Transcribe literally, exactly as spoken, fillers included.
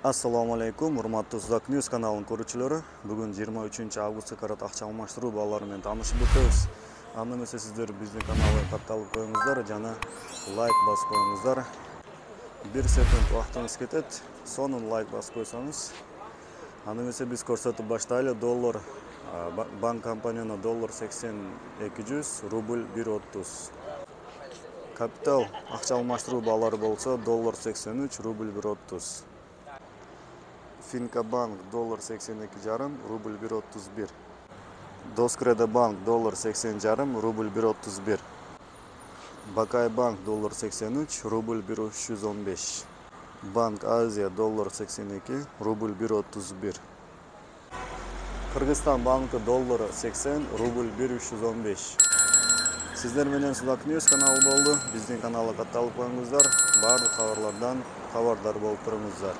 Assalomu alaykum, hurmatli Uzak News kanalının көрүүчүлөрү. Бүгүн жыйырма үчүнчү августка карата акча алмаштыруу баалары менен таанышып өтөбүз. Анда эмесе сиздер биздин каналга катталып коюңуздар жана лайк басып коюңуздар. бир секунд убактыңыз кетет. Сонун лайк басып койсоңуз. Анда эмесе биз көрсөтүп баштайлы. Доллар банк компанияна доллар сексен эки жүз, рубль бир отуз. Капитал акча алмаштыруу баалары болсо доллар сексен үч, рубль бир отуз. Финкабанк доллар сексен эки жарым, рубль бир отуз бир. Доскредобанк доллар сексен жарым, рубль бир отуз бир. Бакайбанк доллар сексен үч, рубль бир үч жүз он беш. Банк Азия доллар сексен эки, рубль бир отуз бир. Кыргызстан банкы доллар сексен, рубль бир үч жүз он беш. Сиздер менен Uzak News каналы болду. Биздин каналга катталып коюңуздар. Баардык кабарлардан кабардар болуп туруңуздар.